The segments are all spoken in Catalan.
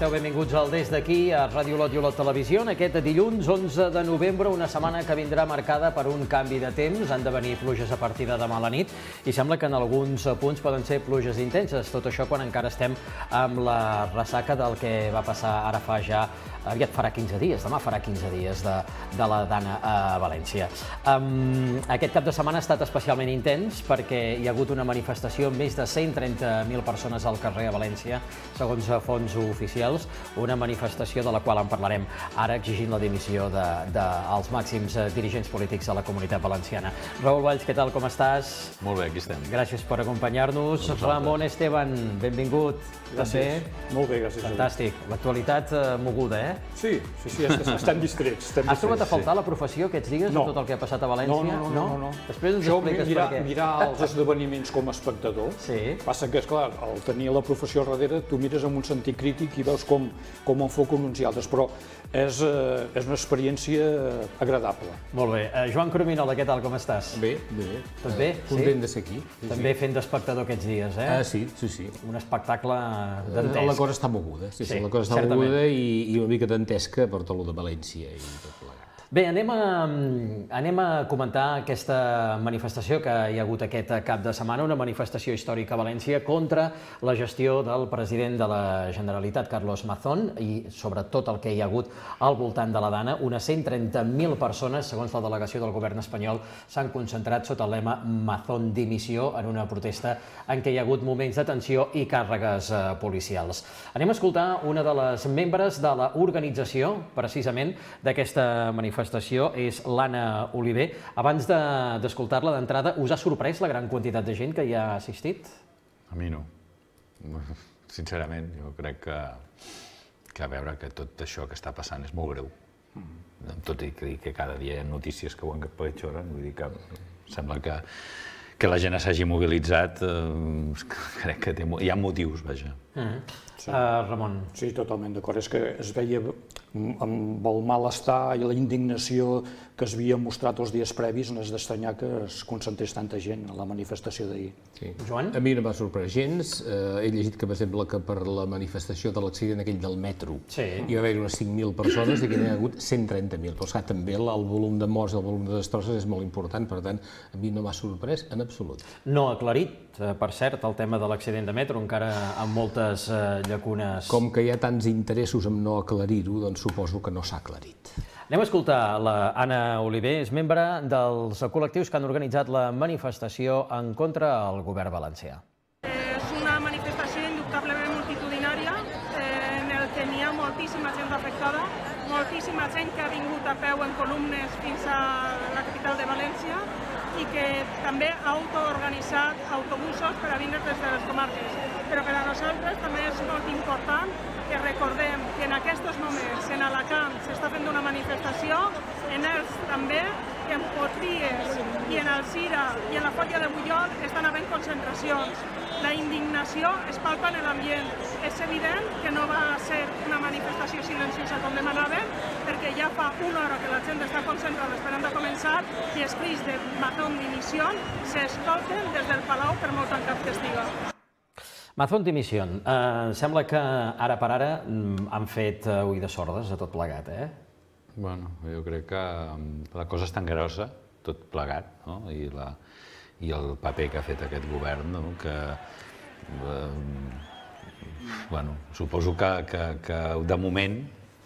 esteu? Benvinguts al Des d'aquí, a Ràdio Olot i Olot Televisió. En aquest dilluns 11 de novembre, una setmana que vindrà marcada per un canvi de temps. Han de venir pluges a partir de demà a la nit i sembla que en alguns punts poden ser pluges intenses. Tot això quan encara estem amb la ressaca del que va passar ara fa ja, aviat farà 15 dies, demà farà 15 dies de la Dana a València. Aquest cap de setmana ha estat especialment intens perquè hi ha hagut una manifestació amb més de 130.000 persones al carrer a València, segons fonts oficials, una manifestació de la qual en parlarem ara, exigint la dimissió dels màxims dirigents polítics de la Comunitat Valenciana. Raül Valls, què tal, com estàs? Molt bé, aquí estem. Gràcies per acompanyar-nos. Ramon Esteban, benvingut. Gràcies. Molt bé, gràcies. Fantàstic. L'actualitat moguda, eh? Sí, estem distrets. Has trobat a faltar la professió aquests dies amb tot el que ha passat a València? No. Després ens expliques per què. Mirar els esdeveniments com a espectador, passa que, esclar, al tenir la professió al darrere, tu mires amb un sentit crític i veus com enfoquen uns i altres, però és una experiència agradable. Molt bé. Joan Crominola, què tal, com estàs? Bé, bé. Tot bé? Content de ser aquí. També fent d'espectador aquests dies, eh? Sí. Un espectacle dantesc. La cosa està moguda, la cosa està moguda i una mica dantesca per tot el de València i tot plegat. Bé, anem a comentar aquesta manifestació que hi ha hagut aquest cap de setmana, una manifestació històrica a València contra la gestió del president de la Generalitat, Carlos Mazón, i sobretot el que hi ha hagut al voltant de la Dana. Unes 130.000 persones, segons la delegació del govern espanyol, s'han concentrat sota el lema Mazón dimissió en una protesta en què hi ha hagut moments de tensió i càrregues policials. Anem a escoltar una de les membres de l'organització, precisament, d'aquesta manifestació. És l'Anna Oliver. Abans d'escoltar-la d'entrada, us ha sorprès la gran quantitat de gent que hi ha assistit? A mi no. Sincerament, jo crec que a veure que tot això que està passant és molt greu. Tot i que cada dia hi ha notícies que ho empitjoren, vull dir que sembla que la gent s'hagi mobilitzat, crec que hi ha motius, vaja. Ramon. Sí, totalment d'acord. És que es veia amb el malestar i la indignació que es havia mostrat els dies previs, no és d'estranyar que es concentrés tanta gent a la manifestació d'ahir. Joan? A mi no m'ha sorprès gens. He llegit que, per exemple, que per la manifestació de l'accident aquell del metro hi va haver unes 5.000 persones i que n'hi ha hagut 130.000. Però esclar, també el volum de morts i el volum de destrosses és molt important, per tant, a mi no m'ha sorprès en absolut. No ha aclarit, per cert, el tema de l'accident de metro, encara amb moltes llacunes. Com que hi ha tants interessos en no aclarir-ho, doncs suposo que no s'ha aclarit. Anem a escoltar l'Anna Oliver, és membre dels col·lectius que han organitzat la manifestació en contra del govern valencià. És una manifestació indubtablement multitudinària en el que n'hi ha moltíssima gent afectada, moltíssima gent que ha vingut a peu en columnes fins a la capital de València i que també ha autoorganitzat autobusos per a vindre des de les comarques. Però per a nosaltres també és molt important que recordem que en aquests moments en Alacant s'està fent una manifestació, en Elx també, que en Potries i en Alzira i en la Fòllia de Bunyol estan havent concentracions. La indignació es palpa en l'ambient. És evident que no va ser una manifestació silenciosa com demanaven, perquè ja fa una hora que la gent està concentrada esperant a començar i els crits de Mazón dimisión s'escolten des del Palau per molt tancat que estiga. Mazón dimisión. Sembla que ara per ara han fet oïdes sordes a tot plegat, eh? Bueno, jo crec que la cosa és tan grossa, tot plegat, i el paper que ha fet aquest govern, que suposo que de moment,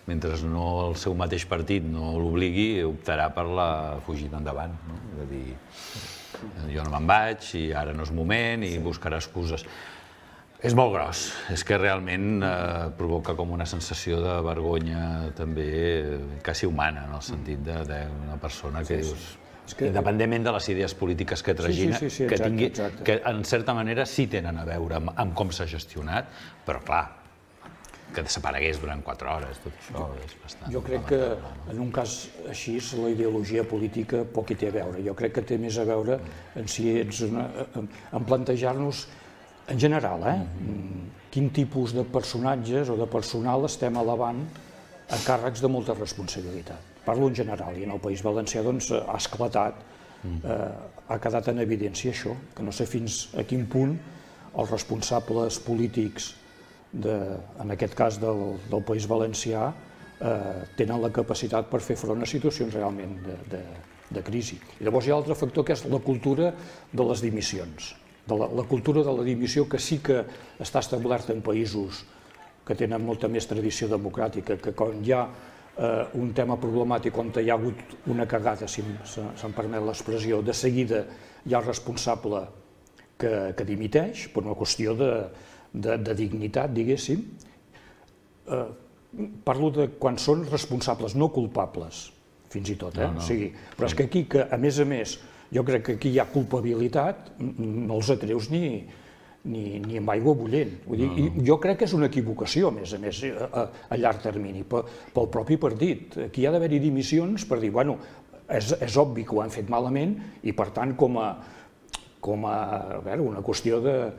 mentre el seu mateix partit no l'obligui, optarà per la fugida endavant. És a dir, jo no me'n vaig i ara no és moment i buscarà excuses. És molt gros, és que realment provoca com una sensació de vergonya també quasi humana, en el sentit d'una persona que dius, independentment de les idees polítiques que tragina, que en certa manera sí tenen a veure amb com s'ha gestionat, però clar, que desaparegués durant 4 hores, tot això és bastant... Jo crec que en un cas així la ideologia política poc hi té a veure. Jo crec que té més a veure en plantejar-nos en general, quin tipus de personatges o de personal estem elevant a càrrecs de molta responsabilitat. Parlo en general, i en el País Valencià ha esclatat, ha quedat en evidència això, que no sé fins a quin punt els responsables polítics en aquest cas del País Valencià, tenen la capacitat per fer front a situacions realment de crisi. I llavors hi ha l'altre factor que és la cultura de les dimissions. La cultura de la dimissió que sí que està establerta en països que tenen molta més tradició democràtica, que quan hi ha un tema problemàtic, on hi ha hagut una cagada, si se'm permet l'expressió, de seguida hi ha el responsable que dimiteix, per una qüestió de dignitat, diguéssim. Parlo de quan són responsables, no culpables, fins i tot. Però és que aquí, a més, jo crec que aquí hi ha culpabilitat, no els atreus ni amb aigua bullent. Jo crec que és una equivocació, a més, a llarg termini, pel propi partit. Aquí hi ha d'haver-hi dimissions per dir, bueno, és obvi que ho han fet malament i, per tant, com a una qüestió de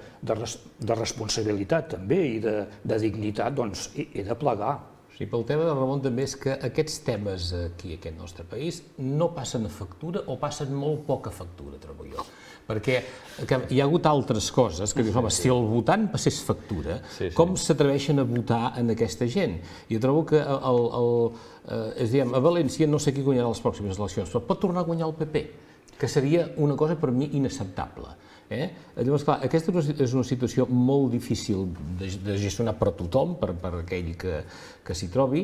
responsabilitat també i de dignitat, doncs he de plegar. Sí, pel tema de Ramon també és que aquests temes aquí, a aquest nostre país, no passen a factura o passen molt poca factura, trobo jo. Perquè hi ha hagut altres coses que dius, home, si el votant passés factura, com s'atreveixen a votar en aquesta gent? Jo trobo que a València no sé qui guanyarà les pròximes eleccions, però pot tornar a guanyar el PP, que seria una cosa per mi inacceptable. Llavors, clar, aquesta és una situació molt difícil de gestionar per a tothom, per aquell que s'hi trobi,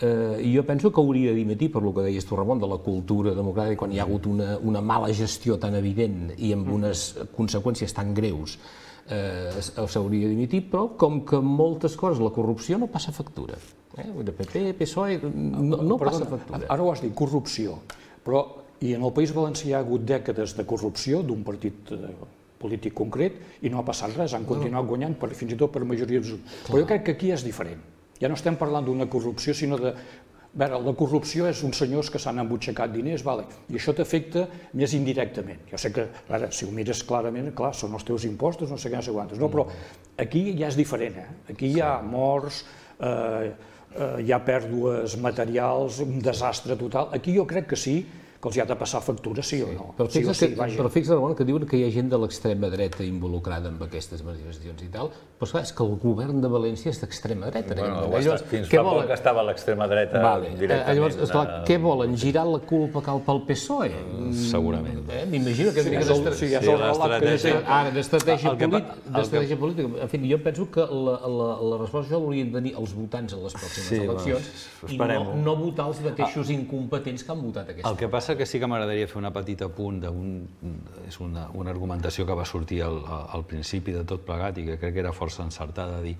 i jo penso que hauria de dimitir, per el que deies tu, Ramon, de la cultura democràtica, quan hi ha hagut una mala gestió tan evident i amb unes conseqüències tan greus, s'hauria de dimitir, però com que moltes coses, la corrupció no passa factura. De PP, PSOE, no passa factura. Ara ho has dit, corrupció, però i en el País Valencià hi ha hagut dècades de corrupció d'un partit polític concret i no ha passat res, han continuat guanyant fins i tot per majoria absoluta. Però jo crec que aquí és diferent. Ja no estem parlant d'una corrupció, sinó de... La corrupció és uns senyors que s'han embutxacat diners, i això t'afecta més indirectament. Jo sé que, si ho mires clarament, clar, són els teus impostos, no sé què, no sé quantes, però aquí ja és diferent. Aquí hi ha morts, hi ha pèrdues materials, un desastre total. Aquí jo crec que sí, que els hi ha de passar factura, sí o no. Però fixa't, Ramon, que diuen que hi ha gent de l'extrema dreta involucrada en aquestes manifestacions i tal, però és clar, és que el govern de València és d'extrema dreta. Fins fa poc estava a l'extrema dreta directament. Llavors, esclar, què volen? Girar la culpa cap al PSOE? Segurament. M'imagino que d'estratègia política. En fi, jo penso que la resposta haurien de tenir els votants en les pròximes eleccions i no votar els mateixos incompetents que han votat aquesta. El que passa que sí que m'agradaria fer una petita apunt és una argumentació que va sortir al principi de tot plegat i que crec que era força encertada de dir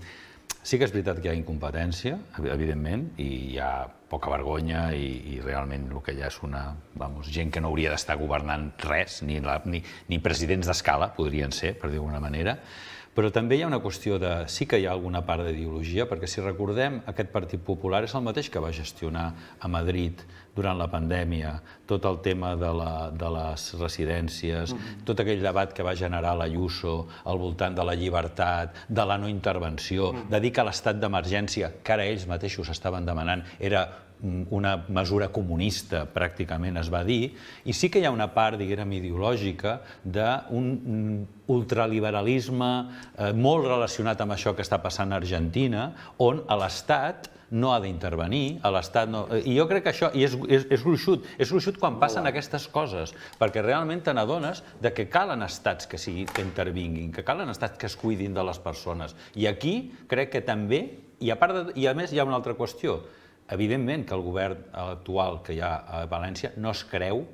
sí que és veritat que hi ha incompetència, evidentment, i hi ha poca vergonya i realment el que hi ha és gent que no hauria d'estar governant res, ni presidents d'escala podrien ser, per dir-ho d'alguna manera. Però també hi ha una qüestió de... Sí que hi ha alguna part d'ideologia, perquè si recordem, aquest Partit Popular és el mateix que va gestionar a Madrid durant la pandèmia, tot el tema de les residències, tot aquell debat que va generar l'Ayuso al voltant de la llibertat, de la no intervenció, de dir que l'estat d'emergència, que ara ells mateixos estaven demanant, era una mesura comunista, pràcticament es va dir, i sí que hi ha una part, diguem, ideològica d'un ultraliberalisme molt relacionat amb això que està passant a Argentina, on l'Estat no ha d'intervenir, i jo crec que això és gruixut quan passen aquestes coses, perquè realment te n'adones que calen estats que intervinguin, que calen estats que es cuidin de les persones. I aquí crec que també, i a més hi ha una altra qüestió, evidentment que el govern actual que hi ha a València no es creu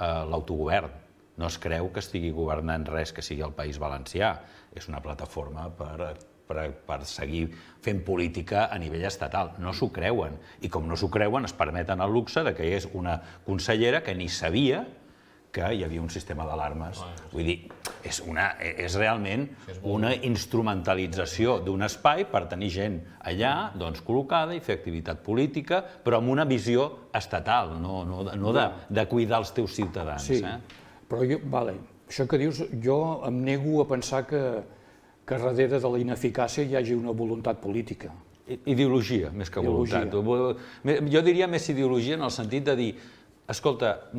l'autogovern, no es creu que estigui governant res que sigui el País Valencià. És una plataforma per seguir fent política a nivell estatal. No s'ho creuen. I com no s'ho creuen, es permeten el luxe que hi és una consellera que ni sabia que hi havia un sistema d'alarmes. Vull dir, és realment una instrumentalització d'un espai per tenir gent allà col·locada i fer activitat política, però amb una visió estatal, no de cuidar els teus ciutadans. Sí, però això que dius, jo em nego a pensar que darrere de la ineficàcia hi hagi una voluntat política. Ideologia, més que voluntat. Jo diria més ideologia en el sentit de dir escolta,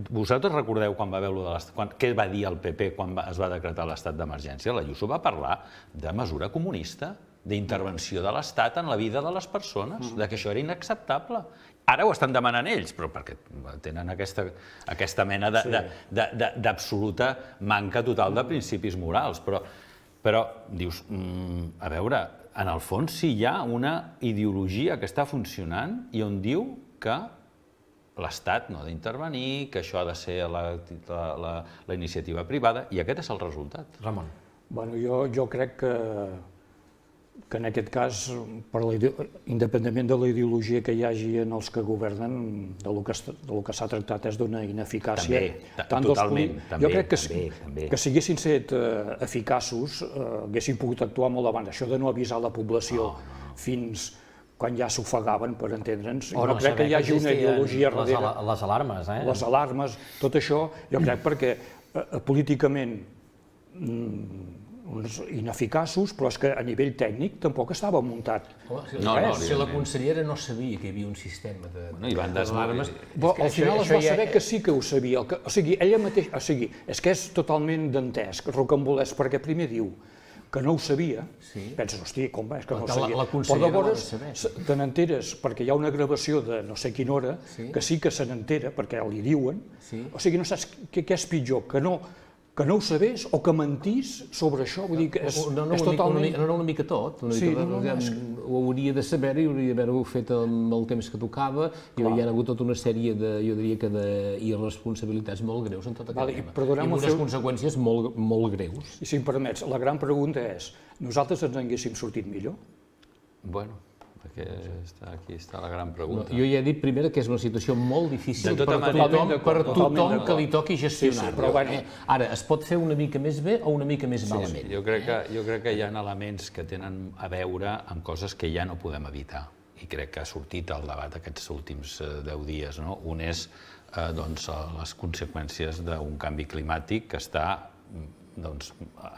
vosaltres recordeu quan va veure què va dir el PP quan es va decretar l'estat d'emergència? L'Ayuso va parlar de mesura comunista, d'intervenció de l'Estat en la vida de les persones, que això era inacceptable. Ara ho estan demanant ells, però perquè tenen aquesta mena d'absoluta manca total de principis morals. Però dius, a veure, en el fons sí hi ha una ideologia que està funcionant i on diu que l'Estat no ha d'intervenir, que això ha de ser la iniciativa privada, i aquest és el resultat. Ramon. Jo crec que en aquest cas, independentment de la ideologia que hi hagi en els que governen, del que s'ha tractat és d'una ineficàcia. Totalment. Jo crec que si haguessin estat eficaços, haguessin pogut actuar molt abans. Això de no avisar la població fins quan ja s'ofegaven, per entendre'ns. No crec que hi hagi una ideologia darrere. Les alarmes, eh? Les alarmes, tot això, jo crec perquè políticament uns ineficaços, però és que a nivell tècnic tampoc estava muntat. Si la consellera no sabia que hi havia un sistema d'alarmes... Al final es va saber que sí que ho sabia. O sigui, ella mateixa... O sigui, és que és totalment dantesc, rocambolesc, perquè primer diu que no ho sabia, penses, hosti, com és que no ho sabia? Però llavors te n'enteres, perquè hi ha una gravació de no sé quina hora, que sí que se n'entera, perquè li diuen, o sigui, no saps què és pitjor, que no ho sabés o que mentís sobre això, vull dir que és totalment... No, una mica tot, ho hauria de saber i hauria d'haver-ho fet amb el temps que tocava i hi ha hagut tota una sèrie, jo diria que d'irresponsabilitats molt greus en tot aquest tema, i amb unes conseqüències molt greus. I si em permets, la gran pregunta és, nosaltres ens haguéssim sortit millor? Bueno, aquí està la gran pregunta. Jo ja he dit primer que és una situació molt difícil per tothom que li toqui gestionar-lo. Ara, es pot fer una mica més bé o una mica més malament. Jo crec que hi ha elements que tenen a veure amb coses que ja no podem evitar. I crec que ha sortit al debat aquests últims 10 dies. Un és les conseqüències d'un canvi climàtic que està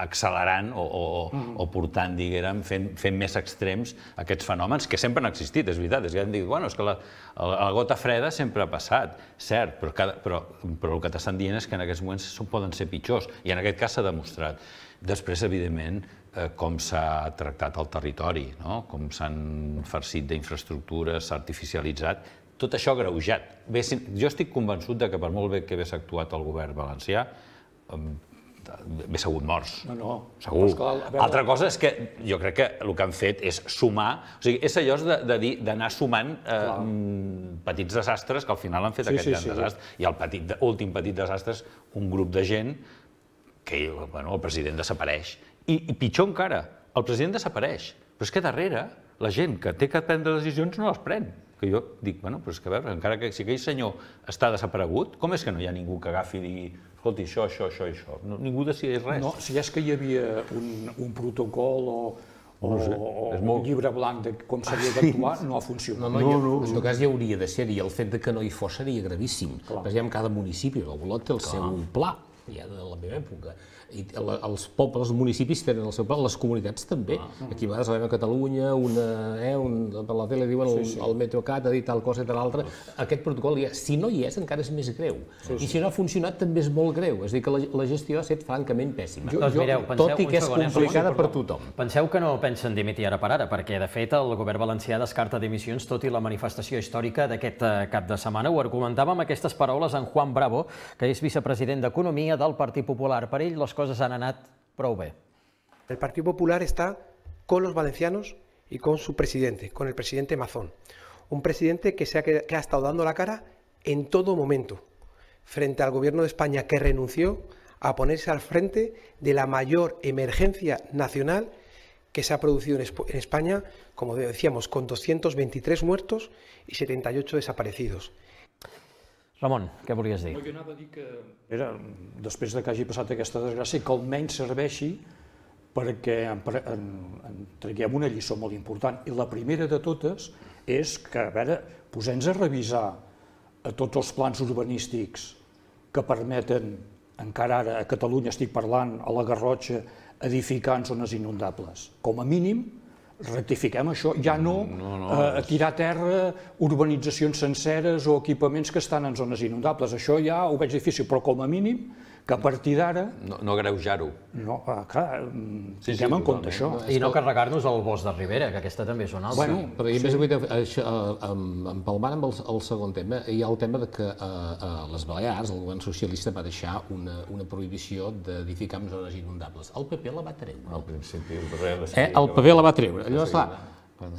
accelerant o portant, diguem, fent més extrems aquests fenòmens que sempre han existit, és veritat. És que hem dit, bueno, és que la gota freda sempre ha passat, cert, però el que t'estan dient és que en aquests moments poden ser pitjors, i en aquest cas s'ha demostrat. Després, evidentment, com s'ha tractat el territori, com s'han farcit d'infraestructures, s'ha artificialitzat, tot això agreujat. Jo estic convençut que per molt bé que hagués actuat el govern valencià, hagués hagut morts, segur. Altra cosa és que jo crec que el que han fet és sumar, o sigui, és allò d'anar sumant petits desastres que al final han fet aquest gran desastre. I l'últim petit desastre és un grup de gent que el president desapareix. I pitjor encara, el president desapareix, però és que darrere la gent que té que prendre decisions no les pren. Que jo dic, bueno, però és que a veure, encara que si aquell senyor està desaparegut, com és que no hi ha ningú que agafi i digui escolti, això i això. Ningú decideix res. No, si és que hi havia un protocol o un llibre blanc de com s'havia d'actuar, no ha funcionat. En tot cas hi hauria de ser, i el fet que no hi fos seria gravíssim. Perquè cada municipi, el Olot té el seu pla, ja de la meva època. Els pobles, els municipis tenen el seu pla, les comunitats també. Aquí a vegades a Catalunya, per la tele diuen el Metrocat ha dit tal cosa i tal altra. Aquest protocol, si no hi és, encara és més greu. I si no ha funcionat, també és molt greu. És a dir, que la gestió ha estat francament pèssima. Tot i que és complicada per tothom. Penseu que no pensen dimitir ara per ara, perquè, de fet, el govern valencià descarta dimissions tot i la manifestació històrica d'aquest cap de setmana. Ho argumentava amb aquestes paraules en Juan Bravo, que és vicepresident d'Economia del Partit Popular. Per ell, les coses han anat prou bé. El Partido Popular está con los valencianos y con su presidente, con el presidente Mazón. Un presidente que ha estado dando la cara en todo momento frente al gobierno de España, que renunció a ponerse al frente de la mayor emergencia nacional que se ha producido en España, como decíamos, con 223 muertos y 78 desaparecidos. Ramon, què volies dir? Jo anava a dir que, després que hagi passat aquesta desgràcia, que almenys serveixi perquè en traguem una lliçó molt important. I la primera de totes és que, a veure, posem-nos a revisar tots els plans urbanístics que permeten, encara ara a Catalunya estic parlant, a la Garrotxa, edificar en zones inundables. Com a mínim, rectifiquem això, ja no tirar a terra urbanitzacions senceres o equipaments que estan en zones inundables. Això ja ho veig difícil, però com a mínim que a partir d'ara... No greujar-ho. No, clar, tinguem en compte això. I no carregar-nos el bosc de Ribera, que aquesta també és una altra. Bueno, però a més avui, empalmant amb el segon tema, hi ha el tema que a les Balears el govern socialista va deixar una prohibició d'edificar en zones inundables. El PP la va treure. Al principi, el PP la va treure. Llavors, clar,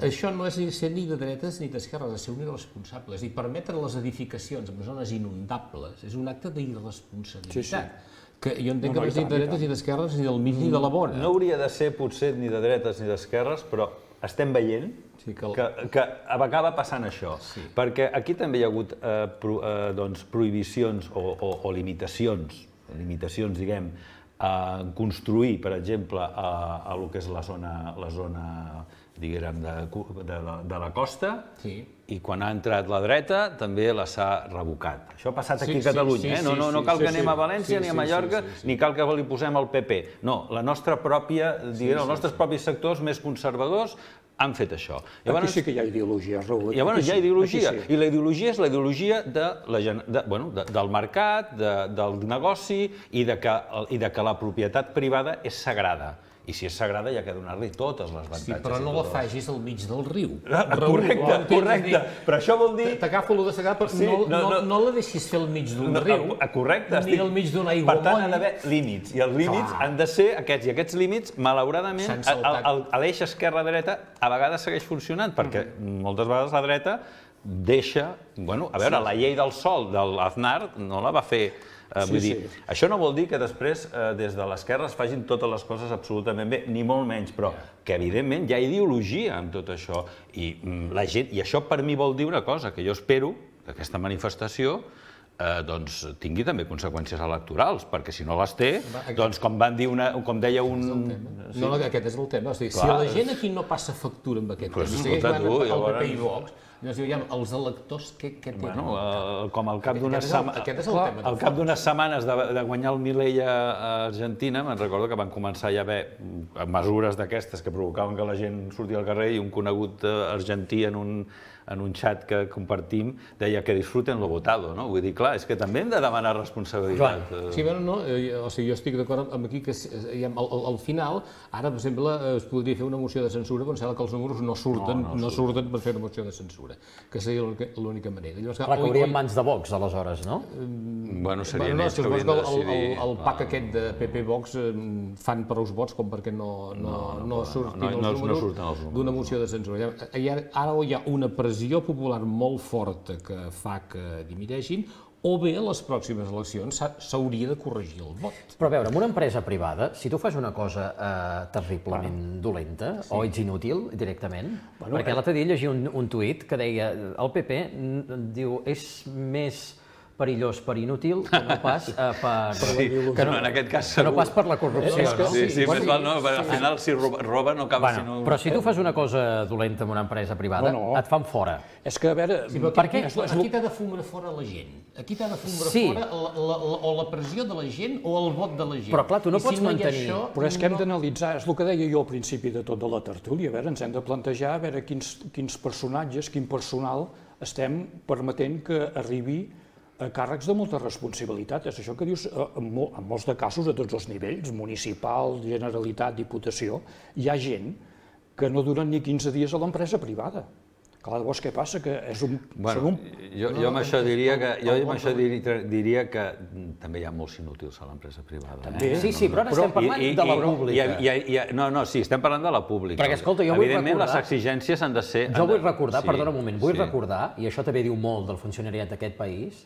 això no és ser ni de dretes ni d'esquerres, és ser un irresponsable. És a dir, permetre les edificacions en zones inundables és un acte d'irresponsabilitat. Que jo entenc que no és ni de dretes ni d'esquerres, ni del mig ni de la vora. No hauria de ser potser ni de dretes ni d'esquerres, però estem veient que acaba passant això. Perquè aquí també hi ha hagut prohibicions o limitacions, diguem, a construir, per exemple, a lo que és la zona diguem, de la costa, i quan ha entrat la dreta també la s'ha revocat. Això ha passat aquí a Catalunya, no cal que anem a València ni a Mallorca, ni cal que li posem el PP. No, la nostra pròpia, els nostres propis sectors més conservadors han fet això. Aquí sí que hi ha ideologia, Raül. Llavors hi ha ideologia, i la ideologia és la ideologia del mercat, del negoci i de que la propietat privada és sagrada. I si és sagrada, hi ha que donar-li totes les avantatges. Sí, però no la facis al mig del riu. Correcte. Però això vol dir... T'agafo allò de sagrada, però no la deixis fer al mig d'un riu. Correcte. Ni al mig d'un aiguamoll. Per tant, ha d'haver límits. I els límits han de ser aquests. I aquests límits, malauradament, l'eix esquerra-dreta a vegades segueix funcionant, perquè moltes vegades la dreta deixa... Bueno, a veure, la llei del sòl de l'Aznar no la va fer... Vull dir, això no vol dir que després des de l'esquerra es facin totes les coses absolutament bé, ni molt menys, però que evidentment hi ha ideologia en tot això. I això per mi vol dir una cosa, que jo espero que aquesta manifestació tingui també conseqüències electorals, perquè si no les té, doncs com deia un... No, aquest és el tema. Si la gent aquí no passa factura amb aquest tema, si segueix jugant al PP i Vox, els electors què tenen? Com al cap d'unes setmanes de guanyar el Milei a Argentina, me'n recordo que van començar ja a haver mesures d'aquestes que provocaven que la gent sortia al carrer i un conegut argentí en un xat que compartim deia que disfruten lo votado, no? Vull dir, clar, és que també hem de demanar responsabilitat. Sí, però no, o sigui, jo estic d'acord amb aquí que al final, ara, per exemple, es podria fer una moció de censura, però em sembla que els números no surten per fer una moció de censura, que seria l'única manera. Clar, que hauríem mans de Vox, aleshores, no? Bueno, serien ells que haurien de decidir. El PAC aquest de PP-Vox fan prous vots com perquè no surtin els números d'una moció de censura. Ara hi ha una pressió popular molt forta que fa que dimiteixin, o bé a les pròximes eleccions s'hauria de corregir el vot. Però a veure, en una empresa privada, si tu fas una cosa terriblement dolenta, o ets inútil directament, perquè l'altre dia llegia un tuit que deia el PP diu és més perillós per inútil que no pas per la corrupció. Sí, més val no, al final si roba no acaba sinó... Però si tu fas una cosa dolenta en una empresa privada, et fan fora. És que, a veure... Per què? Aquí t'ha de fumar fora la gent. Aquí t'ha de fumar fora o la pressió de la gent o el vot de la gent. Però clar, tu no pots mantenir... Però és que hem d'analitzar, és el que deia jo al principi de tot de la tertúlia, a veure, ens hem de plantejar a veure quins personatges, quin personal estem permetent que arribi a càrrecs de molta responsabilitat. És això que dius, en molts de casos, a tots els nivells, municipal, Generalitat, Diputació, hi ha gent que no duren ni 15 dies a l'empresa privada. Clar, llavors què passa? Que són un... Jo amb això diria que també hi ha molts inútils a l'empresa privada. Sí, però ara estem parlant de la pública. No, sí, estem parlant de la pública. Perquè, escolta, jo vull recordar... Evidentment, les exigències han de ser... Jo vull recordar, perdona un moment, vull recordar, i això també diu molt del funcionariat d'aquest país,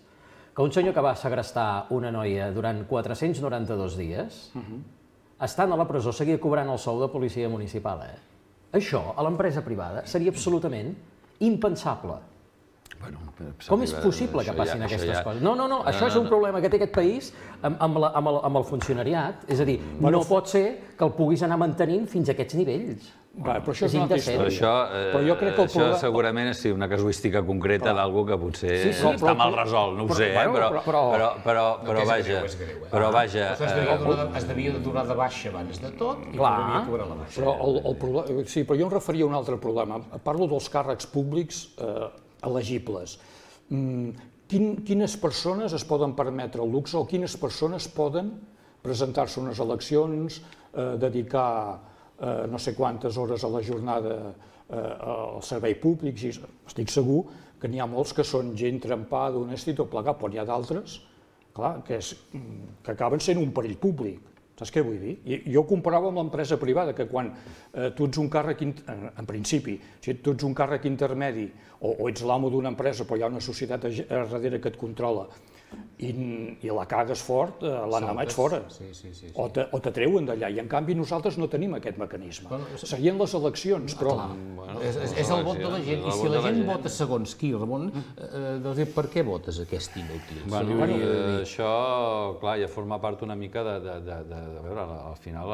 que un senyor que va segrestar una noia durant 492 dies, estant a la presó, seguia cobrant el sou de policia municipal. Això, a l'empresa privada, seria absolutament impensable. Com és possible que passin aquestes coses? No, això és un problema que té aquest país amb el funcionariat. És a dir, no pot ser que el puguis anar mantenint fins a aquests nivells. Però això és una altra història. Això segurament és una casuística concreta d'algú que potser està mal resolt, no ho sé, però vaja... Es devia de donar de baixa abans de tot i devia cobrar la baixa. Sí, però jo em referia a un altre problema. Parlo dels càrrecs públics elegibles. quines persones es poden permetre el luxe o quines persones poden presentar-se a unes eleccions, dedicar no sé quantes hores a la jornada al servei públic. Estic segur que n'hi ha molts que són gent trempada, honesta i tot plegat, però n'hi ha d'altres que acaben sent un perill públic. Saps què vull dir? Jo ho comparava amb l'empresa privada, que quan tu ets un càrrec, en principi, si tu ets un càrrec intermedi o ets l'amo d'una empresa però hi ha una societat darrere que et controla i la cagues fort, l'endemà ets fora, o t'atreuen d'allà, i en canvi nosaltres no tenim aquest mecanisme. Serien les eleccions, però... És el vot de la gent, i si la gent vota segons qui, Ramon, doncs per què votes aquest inútil? Això, clar, ja forma part una mica de veure, al final,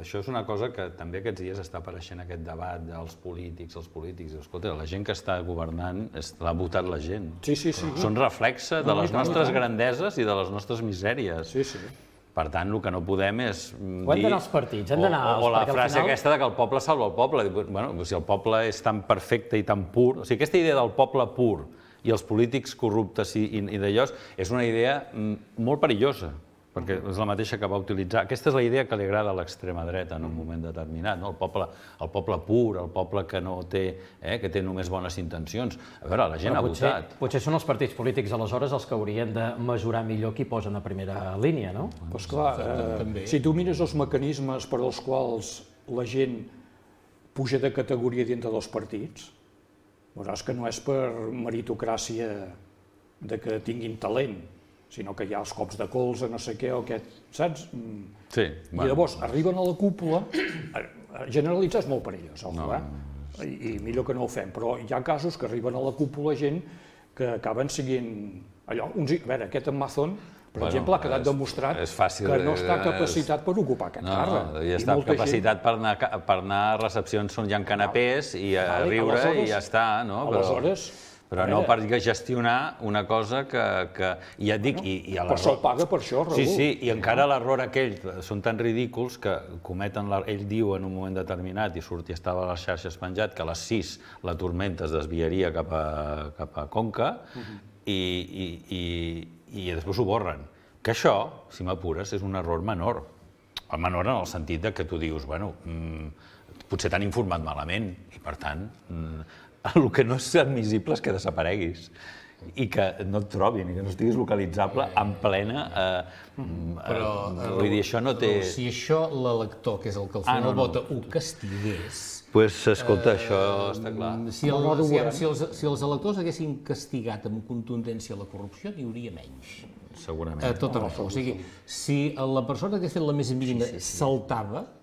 això és una cosa que també aquests dies està apareixent aquest debat dels polítics, escolta, la gent que està governant l'ha votat la gent. Són reflexe de les nostres grandeses i de les nostres misèries. Per tant, el que no podem és dir... Ho han d'anar als partits, han d'anar... O la frase aquesta que el poble salva el poble. Bueno, si el poble és tan perfecte i tan pur... O sigui, aquesta idea del poble pur i els polítics corruptes i d'allò és una idea molt perillosa, perquè és la mateixa que va utilitzar. Aquesta és la idea que li agrada a l'extrema dreta en un moment determinat, el poble pur, el poble que no té, que té només bones intencions. A veure, la gent ha votat. Potser són els partits polítics aleshores els que haurien de mesurar millor qui posen a primera línia, no? Doncs clar, si tu mires els mecanismes per als quals la gent puja de categoria dintre dels partits, veuràs que no és per meritocràcia de que tinguin talent, sinó que hi ha els cops de colze, no sé què, o aquest, saps? Sí. I llavors arriben a la cúpula, generalitzar és molt perillós, i millor que no ho fem, però hi ha casos que arriben a la cúpula gent que acaben siguent allò, a veure, aquest en Mazón, per exemple, ha quedat demostrat que no està capacitat per ocupar aquest càrrec. No, ja està capacitat per anar a recepcions on hi ha canapés i a riure i ja està, no? Aleshores... Però no per gestionar una cosa que ja et dic... Per això el paga per això, Raül. Sí, i encara l'error aquell, són tan ridículs que cometen, ell diu en un moment determinat, i estava a les xarxes penjat, que a les 6 la tormenta es desviaria cap a Conca, i després ho borren. Que això, si m'apures, és un error menor. Menor en el sentit que tu dius, bueno, potser t'han informat malament, i per tant... El que no és admissible és que desapareguis i que no et trobin, i que no estiguis localitzable en plena... Però, vull dir, això no té... Si això l'elector, que és el que al final vota, ho castigués... Doncs, escolta, això està clar. Si els electors haguessin castigat amb contundència la corrupció, n'hi hauria menys. Segurament. Tot arreu. O sigui, si la persona que hagués fet la més mínima saltava,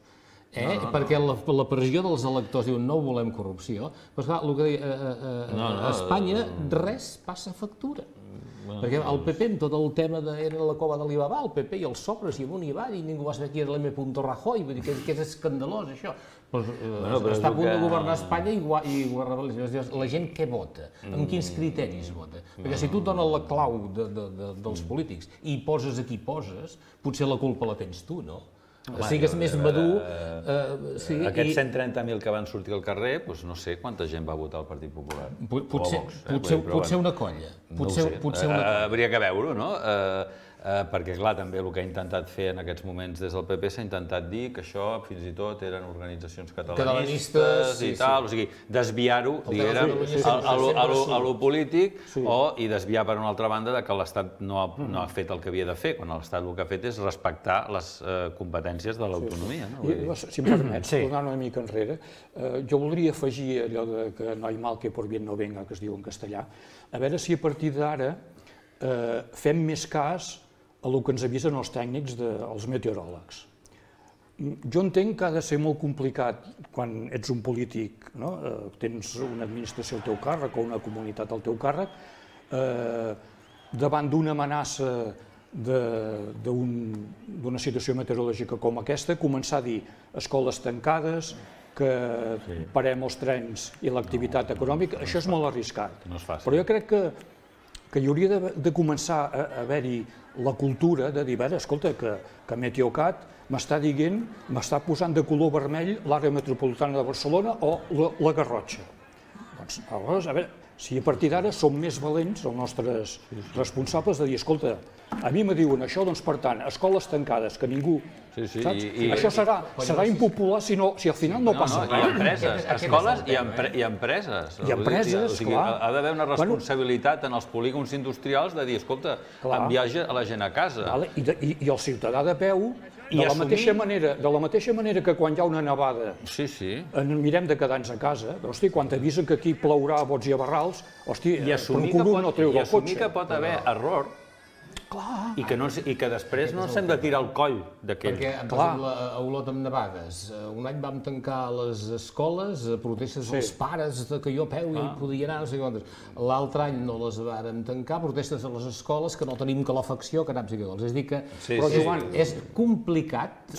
perquè la pressió dels electors diu no volem corrupció, però esclar, el que deia, a Espanya res passa factura. Perquè el PP, amb tot el tema era la cova d'Alibaba, el PP i els sobres i amunt i avall, i ningú va saber qui era l'M. Rajoy, vull dir que és escandalós això. Està a punt de governar Espanya i la gent què vota? Amb quins criteris vota? Perquè si tu et dones la clau dels polítics i poses a qui poses, potser la culpa la tens tu, no? Sigues més madur... Aquests 130.000 que van sortir al carrer, no sé quanta gent va votar al Partit Popular. Potser una colla. Hauria que veure-ho, no? Perquè, clar, també el que ha intentat fer en aquests moments des del PP s'ha intentat dir que això fins i tot eren organitzacions catalanistes i tal, o sigui, desviar-ho, diguérem, a lo polític i desviar per una altra banda que l'Estat no ha fet el que havia de fer, quan l'Estat el que ha fet és respectar les competències de l'autonomia. Si em permets, tornant una mica enrere, jo voldria afegir allò que no hay mal que por bien no venga, que es diu en castellà, a veure si a partir d'ara fem més cas a el que ens avisen els tècnics dels meteoròlegs. Jo entenc que ha de ser molt complicat quan ets un polític, tens una administració al teu càrrec o una comunitat al teu càrrec, davant d'una amenaça d'una situació meteorològica com aquesta, començar a dir escoles tancades, que parem els trens i l'activitat econòmica, això és molt arriscat. Però jo crec que hi hauria de començar a haver-hi la cultura de dir, escolta, que Meteocat m'està dient, m'està posant de color vermell l'àrea metropolitana de Barcelona o la Garrotxa. Doncs, aleshores, a veure, Si a partir d'ara som més valents, els nostres responsables, de dir, escolta, a mi me diuen això, doncs per tant, escoles tancades, que ningú... Saps? Això serà impopular si al final no passa res. I empreses, escoles i empreses. I empreses, clar. Ha d'haver una responsabilitat en els polígons industrials de dir, escolta, enviar la gent a casa. I el ciutadà de peu, de la mateixa manera que quan hi ha una nevada mirem de quedar-nos a casa, hosti, quan t'avisen que aquí plourà a bots i a barrals, hosti, procuro no treure el cotxe. I assumir que pot haver error, i que després no ens hem de tirar el coll d'aquell. Perquè, per exemple, a Olot amb nevades, un any vam tancar les escoles, protestes dels pares que jo a peu ja hi podia anar, no sé quantes. L'altre any no les vàrem tancar, protestes a les escoles que no tenim calefacció, que naps i cagols. És a dir que, però Joan, és complicat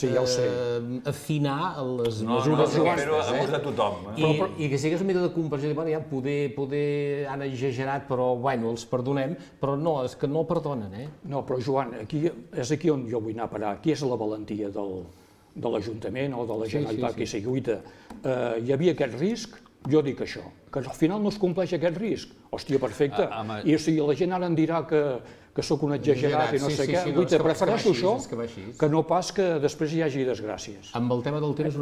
afinar les mesures aquestes. Però de tothom. I que sigués una mica de comprensió, ja poder han exagerat, però bueno, els perdonem, però no, és que no perdonen, No, però Joan, és aquí on jo vull anar a parar. Aquí és la valentia de l'Ajuntament o de la Generalitat que s'hi lluita. Hi havia aquest risc, jo dic això, que al final no es compleix aquest risc. Hòstia, perfecte. I la gent ara em dirà que sóc un exagerat i no sé què. Prefereixo això que no pas que després hi hagi desgràcies. Amb el tema del temps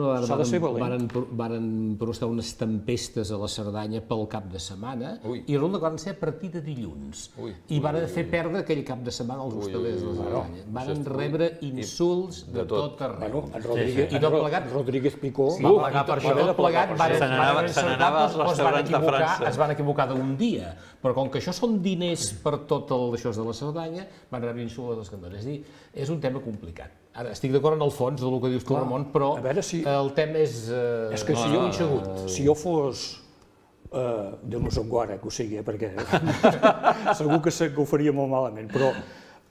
varen prostar unes tempestes a la Cerdanya pel cap de setmana i resulta que van ser a partir de dilluns. I van fer perdre aquell cap de setmana als hostalers de la Cerdanya. Van rebre insults de tot arreu. I tot plegat, Rodríguez Picó va plegar per això. Tot plegat es van equivocar d'un dia, però com que això són diners per tot això de la Cerdanya, van rebre insults a les cantones. És a dir, és un tema complicat. Ara, estic d'acord en el fons del que dius tu, Ramon, però el tema és... És que si jo fos... Déu no som guara, que ho sigui, perquè segur que ho faria molt malament, però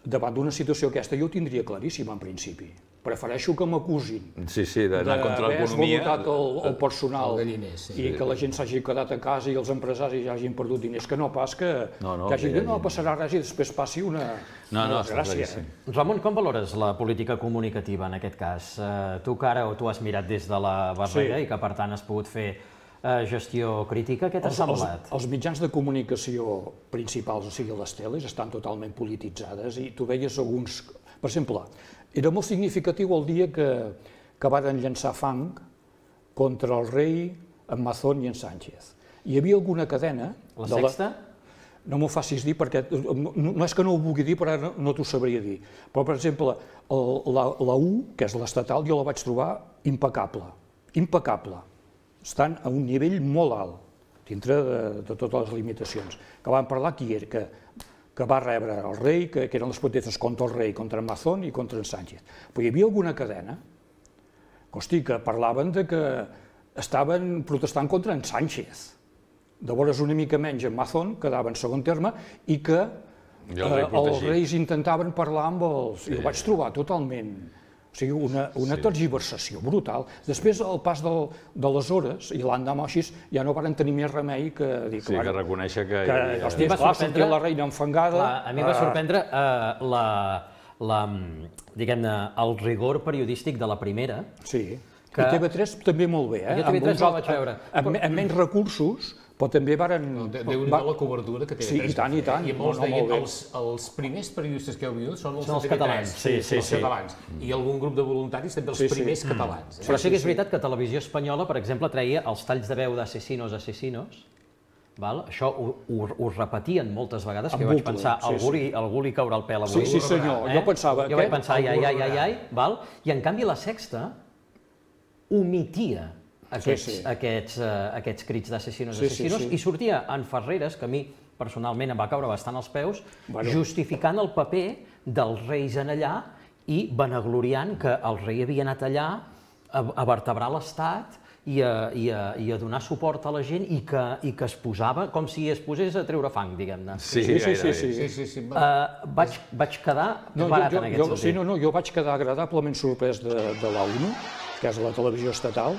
davant d'una situació aquesta jo ho tindria claríssim en principi. Prefereixo que m'acusin d'haver esgotat el personal i que la gent s'hagi quedat a casa i els empresaris hagin perdut diners, que no pas que hagi dit no passarà res i després passi una desgràcia. Ramon, com valores la política comunicativa en aquest cas? Tu que ara tu has mirat des de la barrera i que per tant has pogut fer gestió crítica, què t'ha semblat? Els mitjans de comunicació principals, o sigui les teles, estan totalment polititzades i tu veies alguns... Per exemple, era molt significatiu el dia que varen llançar fang contra el rei, en Mazón i en Sánchez. Hi havia alguna cadena... La Sexta? No m'ho facis dir perquè no és que no ho vulgui dir, però ara no t'ho sabria dir. Però, per exemple, la U, que és l'estatal, jo la vaig trobar impecable. Impecable. Estan a un nivell molt alt, dintre de totes les limitacions. Que van parlar qui era, que va rebre el rei, que eren les protestes contra el rei, contra en Mazón i contra en Sánchez. Però hi havia alguna cadena, que parlaven que estaven protestant contra en Sánchez. Llavors una mica menys en Mazón quedava en segon terme i que els reis intentaven parlar amb els... I ho vaig trobar totalment... O sigui, una tergiversació brutal. Després, al pas de les hores, i l'endemà així, ja no varen tenir més remei que dir... Sí, que reconèixer que... Hòstia, clar, sortia la reina enfangada... A mi va sorprendre el rigor periodístic de la primera. Sí, i TV3 també molt bé, Jo TV3 no la vaig veure. Amb menys recursos, però també varen... Déu-n'hi-do la cobertura que TV3 Sí, i tant, i tant. I molts deien, els primers periodistes que heu vingut són els catalans. Els catalans. I algun grup de voluntaris també els primers catalans. Però sí que és veritat que Televisió Espanyola, per exemple, treia els talls de veu d'Asesinos, això ho repetien moltes vegades, que jo vaig pensar, algú li caurà el pèl avui. Sí, senyor, jo pensava... Jo vaig pensar, ai, i en canvi la Sexta omitia aquests crits d'asesinos i sortia en Ferreres, que a mi personalment em va caure bastant als peus, justificant el paper dels reis en allà i vanagloriant que el rei havia anat allà a vertebrar l'Estat i a donar suport a la gent i que es posava com si es posés a treure fang, diguem-ne. Sí. Vaig quedar barat en aquest sentit. Jo vaig quedar agradablement sorprès de la ONU, que és la televisió estatal,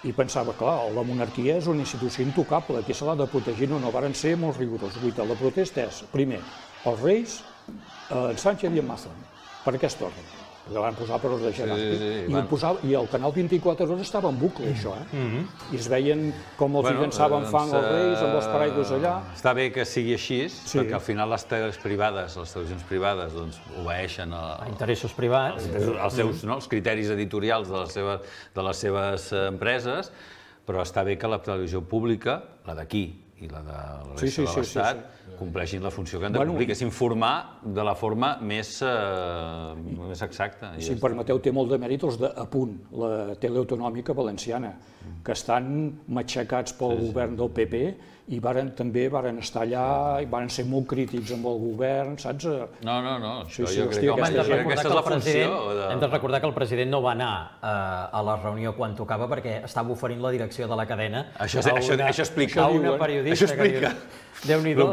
i pensava, clar, la monarquia és una institució intocable, aquí se l'ha de protegir, no varen ser molt rigorosos. La protesta és, primer, els reis, en Sánchez i en Mazón, per aquest ordre. la van posar per ordre jeràrquic. I el Canal 24 Hores estava en bucle, això, I es veien com els llançaven fang als reis amb els paraigües allà. Està bé que sigui així, perquè al final les televisions privades, obeeixen a interessos privats, els criteris editorials de les seves empreses, però està bé que la televisió pública, la d'aquí i la de la resta de l'Estat, compleixin la funció que han de complir, que és informar de la forma més exacta. Si em permeteu, té molt de mèrit els d'Apunt, la tele autonòmica valenciana, que estan matxacats pel govern del PP i també varen estar allà i varen ser molt crítics amb el govern, saps? No, jo crec que aquesta és la funció. Hem de recordar que el president no va anar a la reunió quan tocava perquè estava oferint la direcció de la cadena a una periodista que diu... Déu-n'hi-do,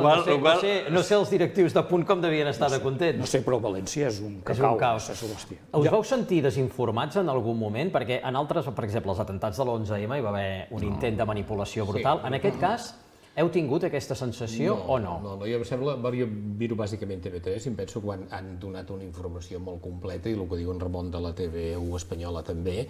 no sé els directius de Punt com devien estar de contents. No sé, però València és un caos. Us vau sentir desinformats en algun moment? Perquè en altres, per exemple, els atentats de l'11M hi va haver un intent de manipulació brutal. En aquest cas, heu tingut aquesta sensació o no? No, jo em sembla, jo miro bàsicament TV3 i em penso que han donat una informació molt completa i el que diu en Ramon de la TV1 espanyola també,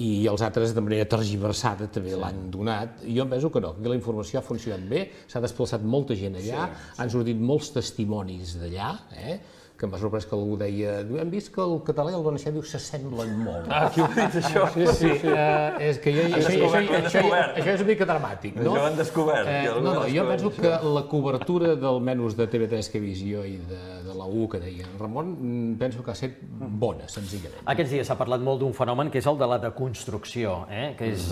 i els altres de manera tergiversada també l'han donat. Jo em penso que no, que la informació ha funcionat bé, s'ha desplaçat molta gent allà, han sortit molts testimonis d'allà, que m'ha sorprès que algú deia hem vist que el català i el valencià s'assemblen molt. Qui ho ha dit, això? Sí, és que això és una mica dramàtic, no? Això ho han descobert. No, jo penso que la cobertura d'almenys de TV3 que he vist jo i de la U que deia en Ramon, penso que ha estat bona, senzillament. Aquests dies s'ha parlat molt d'un fenomen que és el de la deconstrucció, que és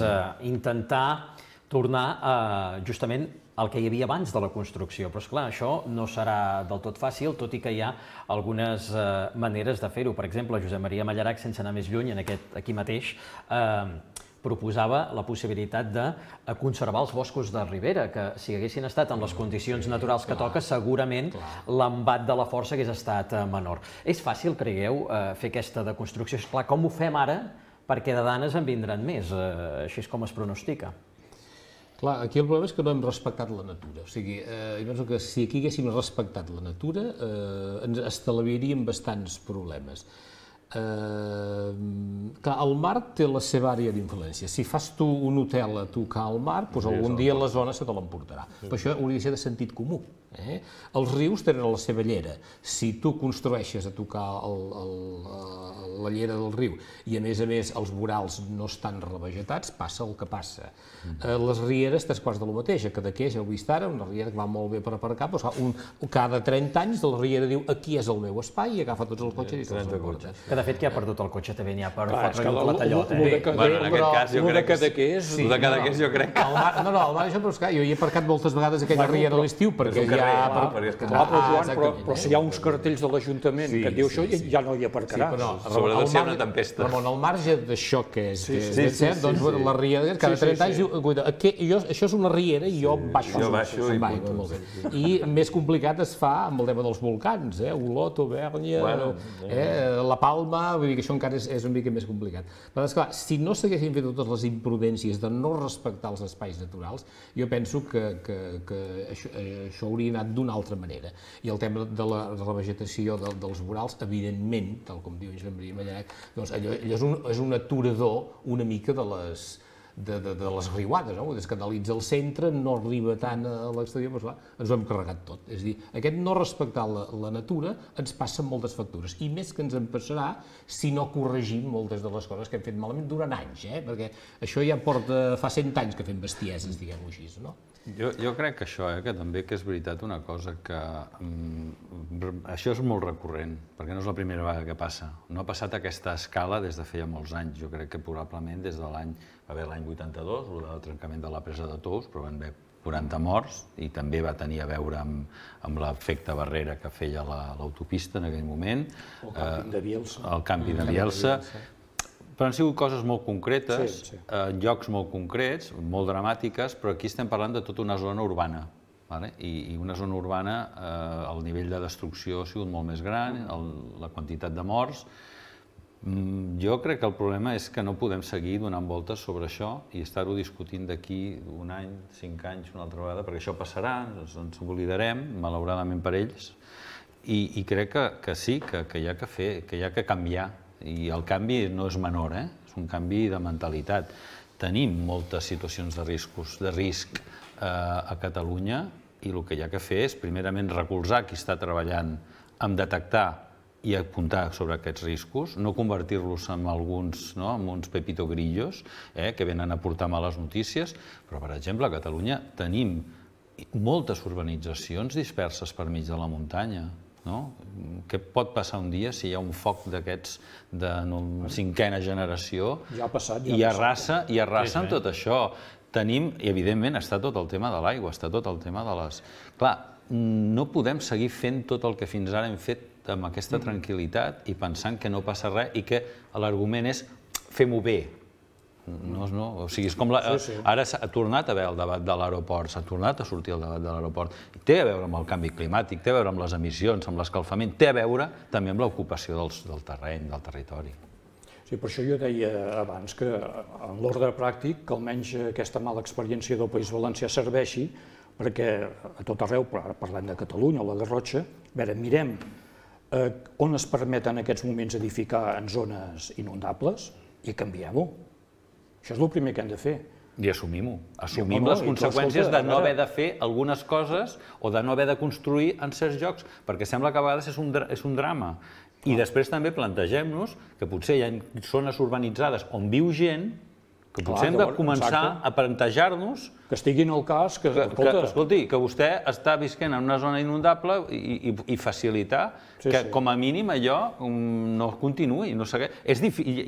intentar tornar justament el que hi havia abans de la construcció. Però, esclar, això no serà del tot fàcil, tot i que hi ha algunes maneres de fer-ho. Per exemple, Josep Maria Mallarac, sense anar més lluny, aquí mateix, proposava la possibilitat de conservar els boscos de ribera, que si haguessin estat en les condicions naturals que toca, segurament l'embat de la força hagués estat menor. És fàcil, creieu, fer aquesta deconstrucció? Esclar, com ho fem ara? Perquè de danes en vindran més, així és com es pronostica. Clar, aquí el problema és que no hem respectat la natura. O sigui, jo penso que si aquí haguéssim respectat la natura, ens estalviaríem bastants problemes. Clar, el mar té la seva àrea d'influència. Si fas tu un hotel a tocar al mar, doncs algun dia la zona se te l'emportarà. Però això hauria de ser de sentit comú. Els rius tenen la seva llera. Si tu construeixes a tocar la llera del riu i a més els vorals no estan revegetats, passa el que passa. Les rieres, tres quarts de lo mateix. A Cadaqués, heu vist ara, una riera que va molt bé per aparcar, cada 30 anys la riera diu aquí és el meu espai i agafa tots els cotxes i se'ls emporta. Que de fet qui ha perdut el cotxe també n'hi ha per fotre-li un platallot. En aquest cas jo crec que... El de Cadaqués jo crec que... No, el mar això, però jo hi he aparcat moltes vegades aquella riera a l'estiu perquè però si hi ha uns cartells de l'Ajuntament que et diu això, ja no hi aparcaràs. Sobretot si hi ha una tempesta. Ramon, al marge d'això que és cert, doncs la riera cada 30 anys diu això és una riera i jo baixo i més complicat es fa amb el tema dels volcans, Olot, Auvergne, la Palma, vull dir que això encara és una mica més complicat. Però esclar, si no s'haguessin fet totes les imprudències de no respectar els espais naturals, jo penso que això hauria anat d'una altra manera. I el tema de la revegetació dels vorals, evidentment, tal com diu Josep Maria Mallarac, doncs allò és un aturador una mica de les riuades, no? Es canalitza al centre, no arriba tant a l'exterior, però ens ho hem carregat tot. És a dir, aquest no respectar la natura ens passa moltes factures, i més que ens en passarà si no corregim moltes de les coses que hem fet malament durant anys, perquè això ja porta fa 100 anys que fem bestieses, diguem-ho així, no? Jo crec que això, que també que és veritat una cosa que això és molt recurrent, perquè no és la primera vegada que passa. No ha passat a aquesta escala des de feia molts anys. Jo crec que probablement des de va haver l'any 82, el trencament de la presa de Tous, però van haver 40 morts i també va tenir a veure amb l'efecte barrera que feia l'autopista en aquell moment. El canvi de Bielsa. El canvi de Bielsa. Però han sigut coses molt concretes, en llocs molt concrets, molt dramàtiques, però aquí estem parlant de tota una zona urbana. I una zona urbana, el nivell de destrucció ha sigut molt més gran, la quantitat de morts. Jo crec que el problema és que no podem seguir donant voltes sobre això i estar-ho discutint d'aquí un any, 5 anys, una altra vegada, perquè això passarà, ens oblidarem, malauradament per ells, i crec que sí, que hi ha que fer, que hi ha que canviar. I el canvi no és menor, és un canvi de mentalitat. Tenim moltes situacions de risc a Catalunya i el que hi ha que fer és, primerament, recolzar qui està treballant en detectar i apuntar sobre aquests riscos, no convertir-los en uns pepito grillos que venen a portar males notícies, però, per exemple, a Catalunya tenim moltes urbanitzacions disperses per mig de la muntanya. Què pot passar un dia si hi ha un foc d'aquests de cinquena generació i arrasa amb tot això? Tenim, i evidentment està tot el tema de l'aigua, està tot el tema de les... Clar, no podem seguir fent tot el que fins ara hem fet amb aquesta tranquil·litat i pensant que no passa res i que l'argument és fem-ho bé. O sigui, és com... Ara s'ha tornat a haver el debat de l'aeroport, s'ha tornat a sortir el debat de l'aeroport. Té a veure amb el canvi climàtic, té a veure amb les emissions, amb l'escalfament, té a veure també amb l'ocupació del terreny, del territori. Sí, per això jo deia abans que en l'ordre pràctic que almenys aquesta mala experiència del País Valencià serveixi perquè a tot arreu, parlem de Catalunya o la Garrotxa, mirem on es permet en aquests moments edificar en zones inundables i canviem-ho. Això és el primer que hem de fer. I assumim-ho. Assumim les conseqüències de no haver de fer algunes coses o de no haver de construir en certs llocs, perquè sembla que a vegades és un drama. I després també plantegem-nos que potser hi ha zones urbanitzades on viu gent que potser hem de començar a plantejar-nos que estiguin al cas que... Escolti, que vostè està visquent en una zona inundable i facilitar que com a mínim allò no continuï, no segueix.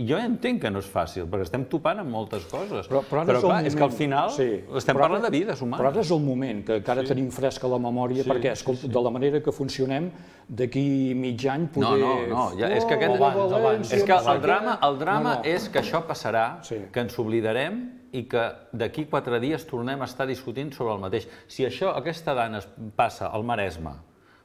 Jo entenc que no és fàcil, perquè estem topant amb moltes coses. Però clar, és que al final estem parlant de vides humanes. Però ara és el moment, que encara tenim fresca la memòria, perquè de la manera que funcionem, d'aquí mig any poder... No, és que el drama és que això passarà, que ens oblidarem i que d'aquí 4 dies tornem a estar discutint sobre el mateix. Si aquesta dana passa al Maresme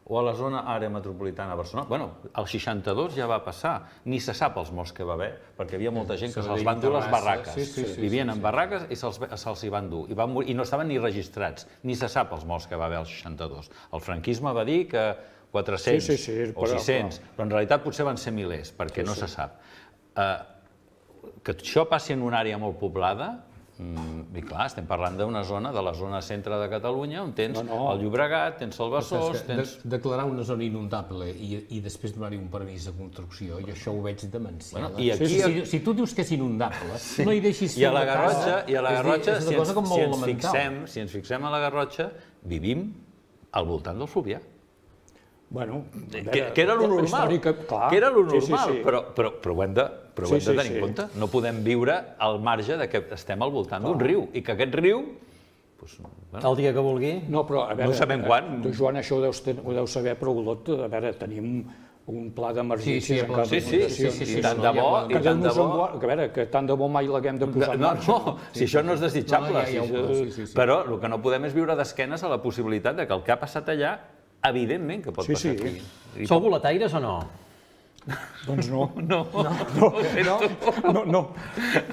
o a la zona àrea metropolitana de Barcelona, bueno, el 62 ja va passar, ni se sap els morts que va haver, perquè hi havia molta gent que se'ls van dur les barraques. Vivien en barraques i se'ls hi van dur, i no estaven ni registrats, ni se sap els morts que va haver al 62. El franquisme va dir que 400 o 600, però en realitat potser van ser milers, perquè no se sap. Que això passi en una àrea molt poblada, i clar, estem parlant d'una zona, de la zona centre de Catalunya, on tens el Llobregat, tens el Besòs, tens... Declarar una zona inundable i després donar-hi un permís de construcció, jo això ho veig demencial. Si tu dius que és inundable, no hi deixis fer una casa... I a la Garrotxa, si ens fixem a la Garrotxa, vivim al voltant del Fluvià. Que era lo normal, però ho hem de tenir en compte. No podem viure al marge que estem al voltant d'un riu i que aquest riu... El dia que vulgui. No, però a veure... No sabem quan. Tu, Joan, això ho deus saber, però Olot, a veure, tenim un pla d'emergències en cas d'inundacions. Sí, tant de bo, i tant de bo... A veure, que tant de bo mai l'haguem de posar en marxa. No, si això no és desitjable. Però el que no podem és viure d'esquenes a la possibilitat que el que ha passat allà evidentment que pot passar aquí. Sou boletaires o no? Doncs no. No.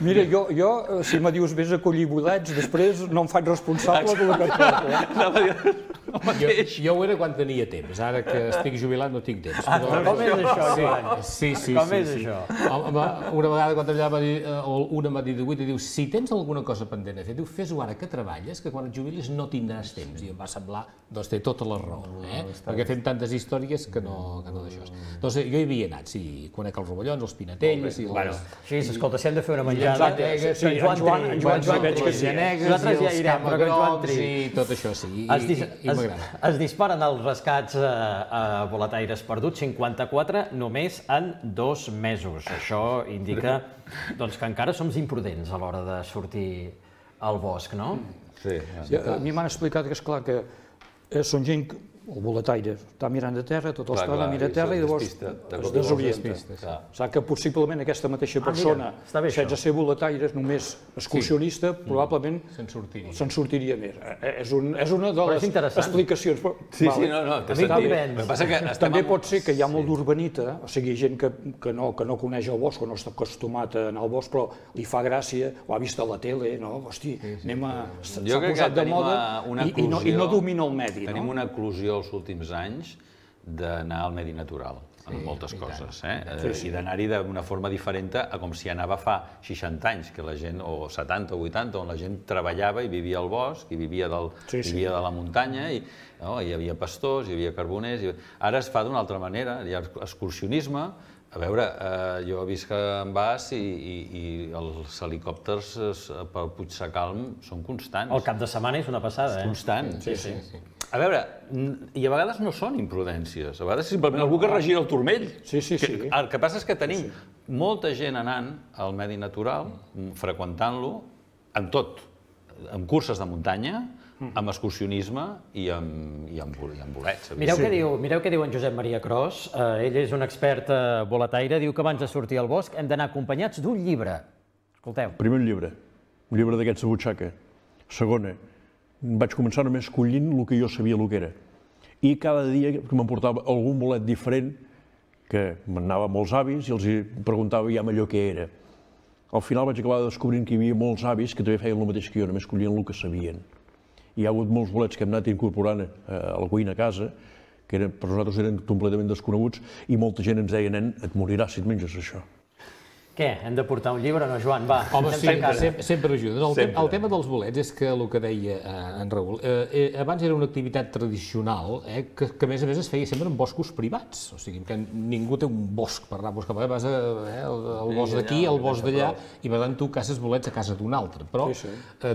Mira, jo, si me dius vés a collir bolets, després no em faig responsable del que et porto. Jo ho era quan tenia temps, ara que estic jubilat no tinc temps. Com és això, Joan? Sí. Com és això? Una vegada quan treballava, una m'ha dit i diu, si tens alguna cosa pendent a fer, diu, fes-ho ara que treballes, que quan et jubilis no tindràs temps. I em va semblar, doncs té tota la raó, perquè fem tantes històries que no d'això. Doncs jo hi havia anat, sí, conec els rovellons, els pinatells... Sí, escolta, si hem de fer una menjada... En Joan veig que sí. Nosaltres ja irem, però que en Joan triï. Sí, tot això sí, i m'agrada. Es disparen els rescats a boletaires perduts, 54 només en 2 mesos. Això indica que encara som imprudents a l'hora de sortir al bosc, no? Sí. A mi m'han explicat que, esclar, que són gent... El boletaire està mirant a terra, tota l'estona mira a terra i llavors es desorienta. Sap que possiblement aquesta mateixa persona, sense ser boletaire, només excursionista, probablement se'n sortiria més. És una de les explicacions. Sí, no, té sentit. També pot ser que hi ha molt d'urbanita, o sigui, gent que no coneix el bosc, o no està acostumat a anar al bosc, però li fa gràcia, ho ha vist a la tele, no? Hosti, s'ha posat de moda i no domina el medi. Tenim una eclosió els últims anys d'anar al medi natural. en moltes coses, i d'anar-hi d'una forma diferent a com si anava fa 60 anys, que la gent, o 70 o 80, on la gent treballava i vivia al bosc, i vivia de la muntanya, i hi havia pastors, hi havia carboners... Ara es fa d'una altra manera, hi ha excursionisme. A veure, jo visc en Bas i els helicòpters pel Puigsecalm són constants. El cap de setmana és una passada, eh? Constant. A veure, i a vegades no són imprudències, a vegades simplement algú que regira el turmell. El que passa és que tenim molta gent anant al medi natural, freqüentant-lo, en tot, en curses de muntanya, amb excursionisme i amb bolets. Mireu què diu en Josep Maria Cros. Ell és un expert boletaire. Diu que abans de sortir al bosc hem d'anar acompanyats d'un llibre. Escolteu. Primer un llibre d'aquests de butxaca. Segona, vaig començar només collint el que jo sabia el que era. I cada dia que m'emportava algun bolet diferent, que m'anava amb molts avis i els preguntava ja allò què era. Al final vaig acabar descobrint que hi havia molts avis que també feien el mateix que jo, només collien el que sabien. Hi ha hagut molts bolets que hem anat incorporant a la cuina a casa, que per nosaltres eren completament desconeguts, i molta gent ens deia, nen, et moriràs si et menges això. Què? Hem de portar un llibre, no, Joan? Va, home, sempre ajuda. El tema dels bolets és que el que deia en Raül, abans era una activitat tradicional que a més es feia sempre en boscos privats. O sigui, que ningú té un bosc per anar a buscar bolets. Vas al bosc d'aquí, al bosc d'allà, i per tant tu caces bolets a casa d'un altre. Però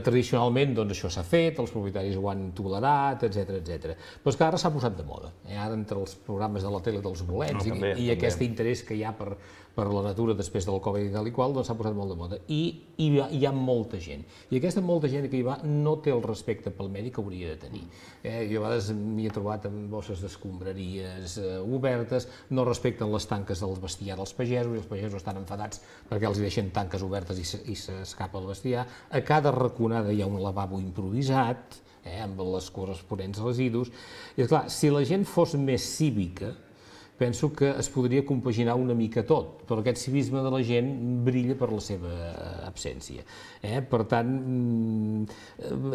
tradicionalment això s'ha fet, els propietaris ho han tolerat, etc. Però és que ara s'ha posat de moda. Ara entre els programes de la tele dels bolets i aquest interès que hi ha per la natura després del Covid i tal i qual, doncs s'ha posat molt de moda. I hi ha molta gent. I aquesta molta gent que hi va no té el respecte pel medi que hauria de tenir. Jo a vegades m'hi he trobat amb bosses d'escombraries obertes, no respecten les tanques del bestiar dels pagesos, i els pagesos estan enfadats perquè els deixen tanques obertes i s'escapa el bestiar. A cada raconada hi ha un lavabo improvisat, amb les corresponents residus. I esclar, si la gent fos més cívica, penso que es podria compaginar una mica tot, però aquest civisme de la gent brilla per la seva absència. Per tant,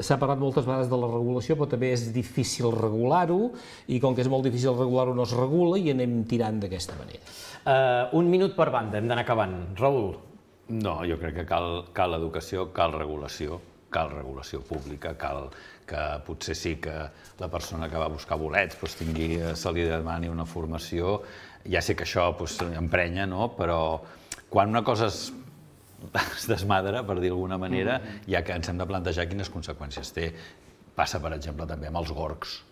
s'ha parlat moltes vegades de la regulació, però també és difícil regular-ho, i com que és molt difícil regular-ho no es regula i anem tirant d'aquesta manera. Un minut per banda, hem d'anar acabant. Raül? No, jo crec que cal educació, cal regulació pública, cal que potser sí que la persona que va a buscar bolets se li demani una formació. Ja sé que això emprenya, però quan una cosa es desmadra, per dir d'alguna manera, ja que ens hem de plantejar quines conseqüències té. Passa, per exemple, també amb els gorgs.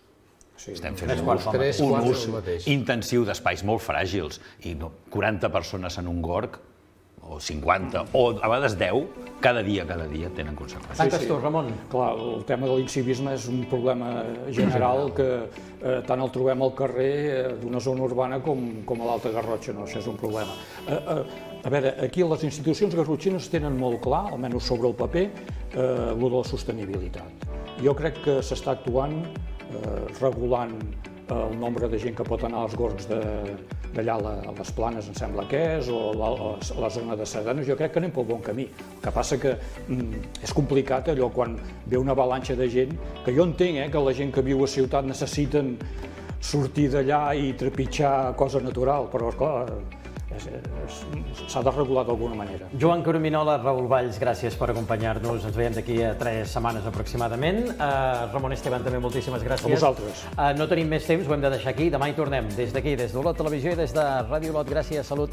Estem fent un ús intensiu d'espais molt fràgils i 40 persones en un gorg, o 50, o a vegades 10, cada dia tenen conseqüències. Tanques tu, Ramon. Clar, el tema de l'incivisme és un problema general que tant el trobem al carrer d'una zona urbana com a l'Alta Garrotxa, no? Això és un problema. A veure, aquí les institucions garrotxines tenen molt clar, almenys sobre el paper, el de la sostenibilitat. Jo crec que s'està actuant regulant el nombre de gent que pot anar als gorgs d'allà a les Planes, em sembla que és, o a la zona de Sardanes. Jo crec que anem pel bon camí. El que passa que és complicat allò quan ve una avalanxa de gent, que jo entenc que la gent que viu a ciutat necessiten sortir d'allà i trepitjar cosa natural, però esclar, s'ha de regular d'alguna manera. Joan Corominola, Raül Valls, gràcies per acompanyar-nos. Ens veiem d'aquí a 3 setmanes aproximadament. Ramon Esteban, també moltíssimes gràcies. A vosaltres. No tenim més temps, ho hem de deixar aquí. Demà hi tornem. Des d'aquí, des d'Olot Televisió i des de Ràdio Olot. Gràcies, salut.